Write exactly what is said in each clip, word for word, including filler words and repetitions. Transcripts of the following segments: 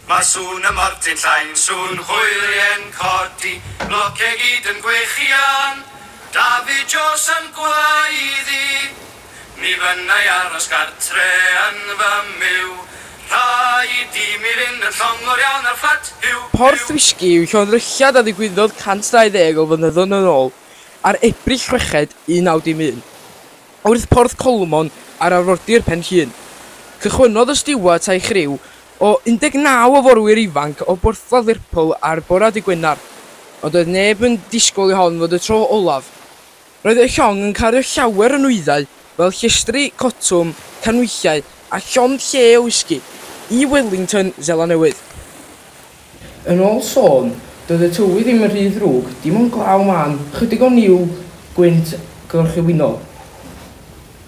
Mae sŵn y mortyn llain, sŵn hwylie'n codi, blociau gyd yn gwechian, David Jones yn gwaeddi. Mi fynnai aros gartre yn fy myw, rhaid i mi fynd yn llongor iawn ar fflat Huw. Porth Wisgi yw llongddrylliad a ddigwyddodd cant dau ddeg o flynyddoedd yn ôl ar Ebrill chweched un naw dim un, wrth Porth Colmon ar arfordir Pen Llŷn. Cychwynnodd y stiwart a'i chriw o un deg naw o forwyr ifanc o borthladd Lerpwl ar bore dydd Gwener, ond doedd neb yn disgwyl i hon fod y tro olaf. Roedd y llong yn cario llawer o nwyddau fel llestri, cotwm, canhwyllau a llond lle o wisgi i Wellington, Seland Newydd. Yn ôl sôn, doedd y tywydd ddim yn rhy ddrwg, dim ond glaw mân, chydig o niwl, gwynt gorllewinol.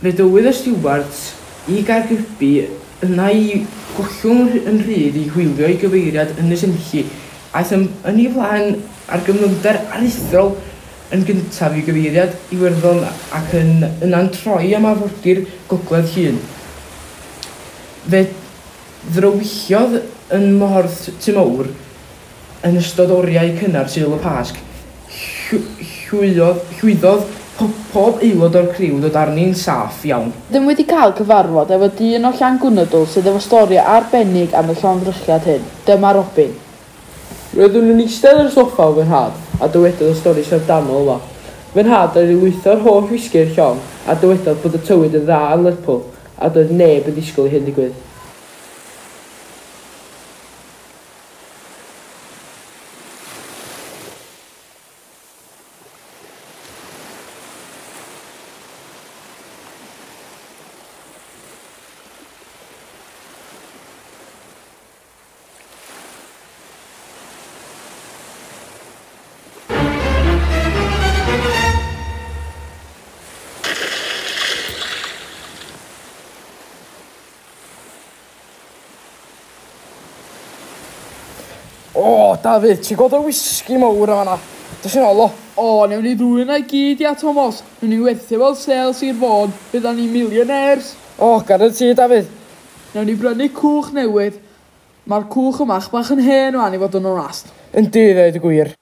Fe dywydd y stiwart i Gaergybi yna i gollwng yn rhydd i hwylio i gyfeiriad Ynys Enlli, aeth yn, yn ei flaen ar gyflymder aruthrol yn gyntaf i gyfeiriad Iwerddon ac yn, yna'n troi am arfordir Gogledd Llŷn. Fe ddrywilliodd yn Mhorth Tymawr yn ystod oriau cynnar Sul y Pasg. Llwyddodd, llwyddodd pob aelod o'r criw ddod arni'n saff iawn. Rydym wedi cael cyfarfod efo dyn o Llangwnadl sydd efo stori arbennig am y llongddrylliad hyn. Dyma Robin. Roeddwn yn eistedd ar y soffa o fy nhad a dywedodd y stori syfrdanol yma. Fy nhad oedd i lwytho'r holl wisgi i'r llong a dywedodd bod y tywydd yn dda yn Lerpwl a doedd neb yn disgwyl i hyn ddigwydd. O, Dafydd, ti'n gweld y wisgi mawr yma na? Dos i'n ôl o. O, newn ni ddwy yna i gyd, ia, Tomos. Newn ni werthu fel sel Sir Fôn, fyddan ni millionaires. O, guarantee, Dafydd. Newn ni brynu cwch newydd. Mae'r cwch yma bach yn hen wan i fod yn onast. Yndi, dweud y gwir.